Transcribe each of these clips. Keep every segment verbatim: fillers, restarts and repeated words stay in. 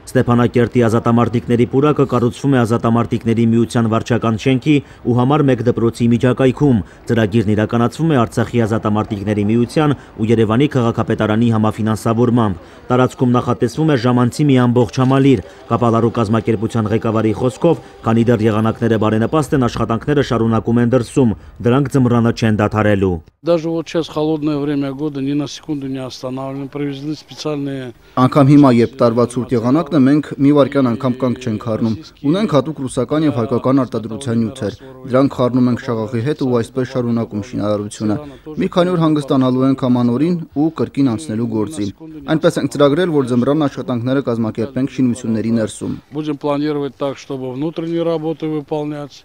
Ստեփանակերտի ազատամարտիկների պուրակը կառուցվում է ազատամարտիկների միության վարչական շենքի ու համար մեկ դպրոցի միջակայքում։ Ծրագիրն իրականացվում է Արցախի ազատամարտիկների միության ու Երևանի քաղաքապետարանի համաֆինանսավորմամբ։ Տարածքում նախատեսվում է ժամանցի մի ամբողջ համալիր։ Կապալառու կազմակերպության ղեկավարի խոսքով, քանի դեռ եղանակները բարենպաստ են, աշխատանքները շարունակում են դրսում, դրանք ձմռանը չեն դադարելու։ Даже вот сейчас холодное время года ни на секунду не останавливаем, привезли специальные. Անգամ հիմա, երբ տարվա ցուրտ եղանակն է, մենք մի վայրկյան անգամ կանգ չենք խառնում։ Ունենք հատուկ ռուսական եւ հայկական արտադրության նյութեր։ Դրանք խառնում ենք շաղախի հետ ու այսպես շարունակում շինարարությունը։ Մի քանի օր հանգստանալու ենք ամանորին ու կրկին անցնելու գործին։ Այնպես ենք ծրագրել, որ ձմռան աշխատանքները կազմակերպենք շինությունների ներսում։ Будем планировать так, чтобы внутренние работы выполнять.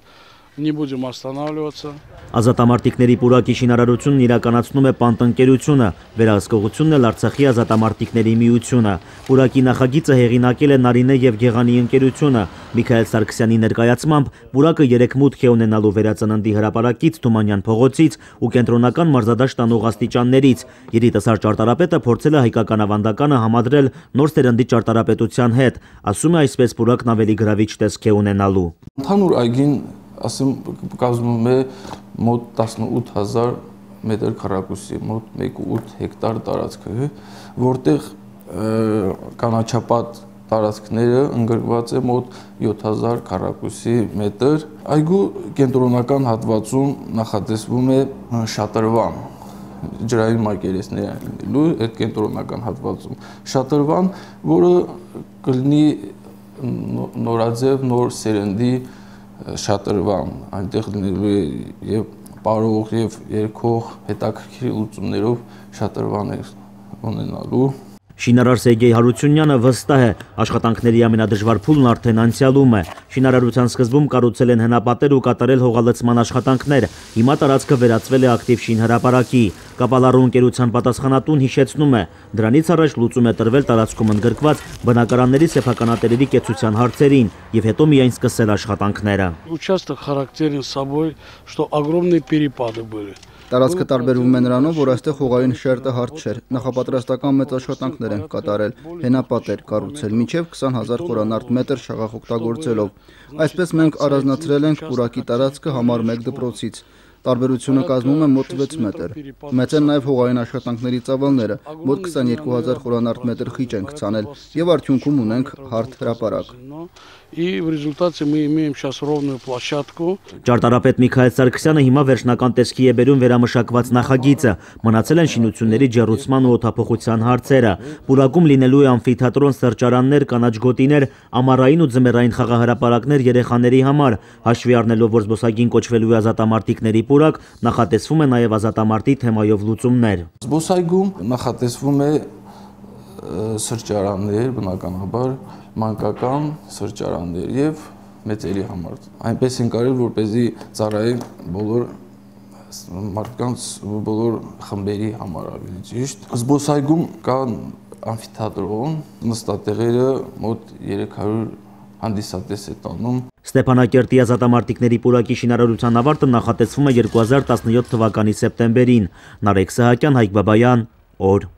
Не будем останавливаться. Ազատամարտիկների պուրակի շինարարությունն իրականացնում է Պանտնկերությունը, վերահսկողությունն էլ Արցախի ազատամարտիկների միությունը։ Պուրակի նախագիծը հեղինակել է Նարինե եւ Գեղանի ընկերությունը։ Միքայել Սարգսյանի ներկայացմամբ պուրակը երեք մուտք է ունենալու Վերածննդի հրապարակից, Թումանյան փողոցից ու կենտրոնական մարզադաշտ տանող աստիճաններից։ Երիտասարդ ճարտարապետը փորձել է հայկական ավանդականը համադրել նոր սերնդի ճարտարապետության հետ։ Ասում է, այսպես պուրակն ավելի գրավիչ տեսք է ունենալու։ Ընդհանուր այգին ասեմ կազմում է մոտ տասնութ հազար մետր քառակուսի, մոտ մեկ կόμμα ութ հեկտար տարածք է, որտեղ կանաչապատ տարածքները ընկրված է մոտ յոթ հազար քառակուսի մետր։ Այգու կենտրոնական հատվածում նախատեսվում է շատրվան, ջրային մակերեսներ լինելու այդ կենտրոնական հատվածում։ Շատրվան, որը կլինի նորաձև, նոր սերնդի շատրվան, այնտեղ լինելու է եւ պարող եւ երկող հետաքրքիր լուծումներով շատրվան է ունենալու։ Շինարար Սերգեյ Հարությունյանը վստահ է, աշխատանքների ամենադժվար փուլն արդեն անցյալում է։ Շինարարության սկզբում կառուցել են հնապատեր ու կատարել հողալցման աշխատանքներ։ Հիմա տարածքը վերածվել է ակտիվ շինհրապարակի։ Կապալառու ընկերության պատասխանատուն հիշեցնում է, դրանից առաջ լուծում է տրվել տարածքում ընդգրկված բնակարանների սեփականատերերի կեցության հարցերին եւ հետո միայն սկսել աշխատանքները։ Участок характерен собой, что огромные перепады были. Տարածքը տարբերվում է նրանով, որ այստեղ հողային շերտը հարթ չէր։ Նախապատրաստական մեծ աշխատանքներ են կատարել, հենապատեր կառուցել, մինչև քսան հազար խորանարդ մետր շաղախ օգտագործելով։ Այսպես մենք առանձնացրել ենք պուրակի տարածքը համար մեկ դպրոցից։ Տարբերությունը կազմում է մոտ վեց մետր։ Մեծ են նաև հողային աշխատանքների ծավալները, մոտ քսաներկու հազար խորանարդ մետր խիճ ենք ցանել եւ արդյունքում ունենք հարթ հրապարակ։ И в результате мы имеем сейчас ровную площадку. Ճարտարապետ Միքայել Սարգսյանը հիմա վերջնական տեսքի է բերում վերամշակված նախագիծը։ Մնացել են շինությունների ջեռուցման ու օդափոխության հարցերը։ Պուրակում լինելու է ամֆիթատրոն, սրճարաններ, կանաչ գոտիներ, ամառային ու ձմեռային խաղահրապարակներ երեխաների համար։ Հաշվի առնելով, որ զբոսայգին կոչվելու է ազատամարտիկների պուրակ, նախատեսվում է նաև ազատամարտի թեմայով լուծումներ։ Զբոսայգում նախատեսվում է սրճարաններ, բնականաբար մանկական սրճարաններ եւ մեծերի համար։ Այնպես են կարել, որպեսզի ծառայեն բոլոր մարդկանց բոլոր խմբերի համար ավելի ճիշտ։ Զբոսայգում կա ամֆիթատրոն, նստատեղերը մոտ երեք հարյուր հանդիսատես է տանում։ Ստեփանակերտի ազատամարտիկների պուրակի շինարարության ավարտը նախատեսվում է երկու հազար տասնյոթ թվականի սեպտեմբերին։ Նարեկ Սահակյան, Հայկ Բաբայան, օր։